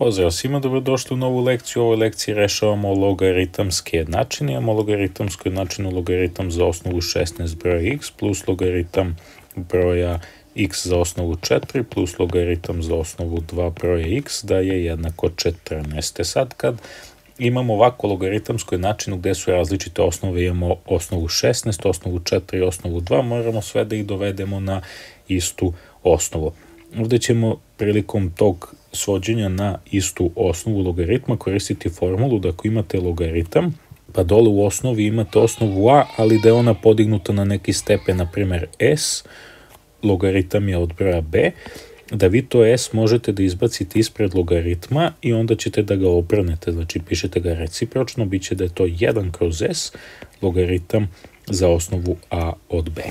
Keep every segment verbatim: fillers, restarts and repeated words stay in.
Pozdrav svima, dobrodošli u novu lekciju. U ovoj lekciji rešavamo logaritamske jednačine. Imamo logaritamsku jednačinu logaritam za osnovu šesnaest broja x plus logaritam broja x za osnovu četiri plus logaritam za osnovu dva broja x da je jednako četrnaest. Sad kad imamo ovako logaritamsku jednačinu gde su različite osnove, imamo osnovu šesnaest, osnovu četiri i osnovu dva, moramo sve da ih dovedemo na istu osnovu. Ovde ćemo prilikom tog svođenja na istu osnovu logaritma koristiti formulu da ako imate logaritam, pa dole u osnovi imate osnovu a, ali da je ona podignuta na neki stepen, na primjer s, logaritam je od broja b, da vi to s možete da izbacite ispred logaritma i onda ćete da ga obrnete, znači pišete ga recipročno, bit će da je to jedan kroz s, logaritam za osnovu a od b.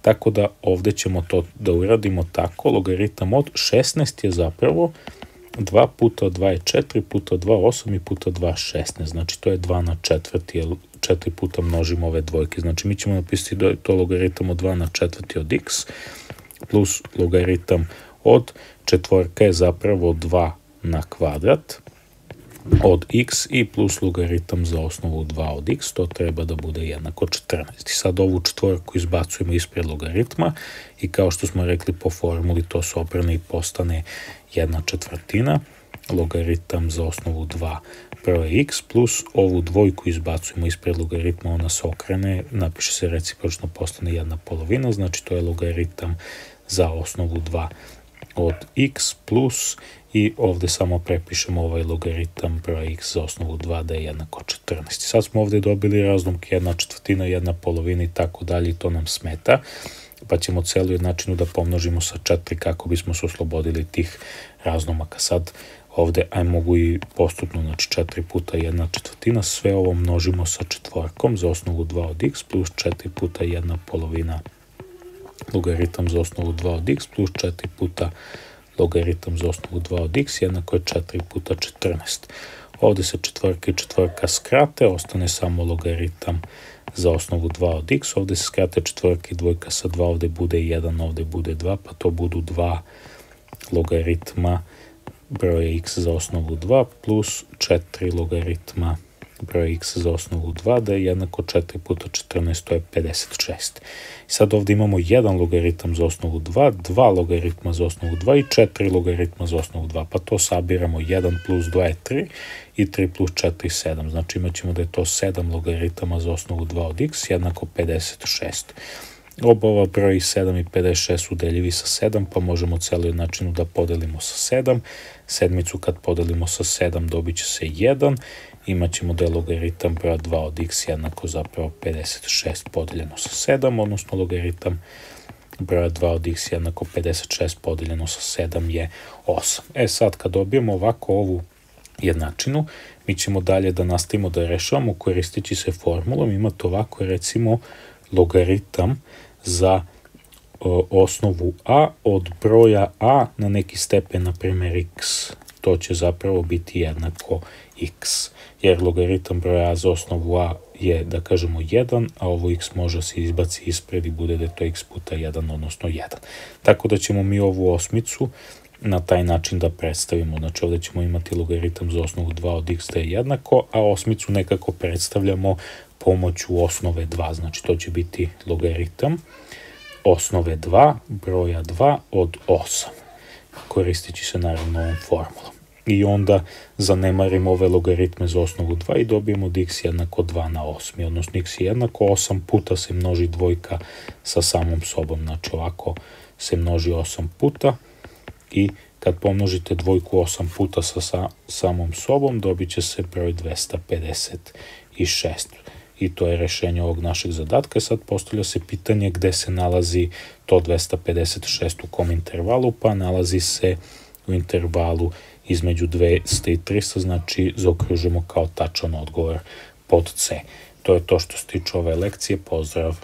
Tako da ovde ćemo to da uradimo tako, logaritam od šesnaest je zapravo dva puta dva je četiri, puta dva osam i puta dva šesnaest, znači to je dva na četvrti, jer četiri puta množimo ove dvojke, znači mi ćemo napisati da je to logaritam od dva na četvrti od x, plus logaritam od četvorka je zapravo dva na kvadrat od x i plus logaritam za osnovu dva od x, to treba da bude jednako četrnaest. I sad ovu četvorku izbacujemo ispred logaritma i kao što smo rekli po formuli to se obrne i postane jedna četvrtina, logaritam za osnovu dva broja x plus ovu dvojku izbacujemo ispred logaritma, ona se okrene, napiše se recipročno, postane jedna polovina, znači to je logaritam za osnovu dva od x plus i ovde samo prepišemo ovaj logaritam broja x za osnovu dva da je jednako četrnaest. Sad smo ovde dobili razlomke jedna četvrtina, jedna polovina i tako dalje i to nam smeta, pa ćemo celu jednačinu da pomnožimo sa četiri kako bismo se oslobodili tih razlomaka. Sad ovde aj mogu i postupno, znači četiri puta jedna četvrtina, sve ovo množimo sa četvorkom za osnovu dva od x plus četiri puta jedna polovina logaritam za osnovu dva od x plus četiri puta logaritam za osnovu dva od x jednako je četiri puta četrnaest. Ovde se četvorka i četvorka skrate, ostane samo logaritam za osnovu dva od x, ovde se skrate četvorka i dvojka sa dva, ovde bude jedan, ovde bude dva, pa to budu dva logaritma broja x za osnovu dva plus četiri logaritma broja x za osnovu dva da je jednako četiri puta četrnaest, to je pedeset šest. I sad ovde imamo jedan logaritam za osnovu dva, dva logaritma za osnovu dva i četiri logaritma za osnovu dva, pa to sabiramo, jedan plus dva je tri i tri plus četiri sedam, znači imat ćemo da je to sedam logaritama za osnovu dva od x jednako pedeset šest. Oba ova broji sedam i pedeset šest su deljivi sa sedam, pa možemo celu jednačinu da podelimo sa sedam. Sedmicu kad podelimo sa sedam dobit će se jedan. Imaćemo da je logaritam broja dva od x jednako zapravo pedeset šest podeljeno sa sedam, odnosno logaritam broja dva od x jednako pedeset šest podeljeno sa sedam je osam. E sad kad dobijemo ovako ovu jednačinu, mi ćemo dalje da nastavimo da rešavamo koristeći se formulom. Imate ovako recimo logaritam za o, osnovu a od broja a na neki stepen, na primjer x. To će zapravo biti jednako x, jer logaritam broja a za osnovu a je, da kažemo, jedan, a ovo x može se izbaci ispred i bude da je to x puta jedan, odnosno jedan. Tako da ćemo mi ovu osmicu na taj način da predstavimo. Znači ovde ćemo imati logaritam za osnovu dva od x da je jednako, a osmicu nekako predstavljamo pomoću osnove dva, znači to će biti logaritam osnove dva broja dva od osam, koristeći se naravno ovom formulom. I onda zanemarimo ove logaritme za osnovu dva i dobijemo da x jednako dva na osam, odnosno x je jednako osam puta se množi dvojka sa samom sobom, znači ovako se množi osam puta i kad pomnožite dvojku osam puta sa, sa samom sobom dobit će se broj dvesta pedeset šest. I to je rešenje ovog našeg zadatka. Sad postavlja se pitanje gde se nalazi to dvesta pedeset šest, u kom intervalu, pa nalazi se u intervalu između dvesta i trista, znači zaokružimo kao tačan odgovor pod C. To je to što se tiče ove lekcije, pozdrav!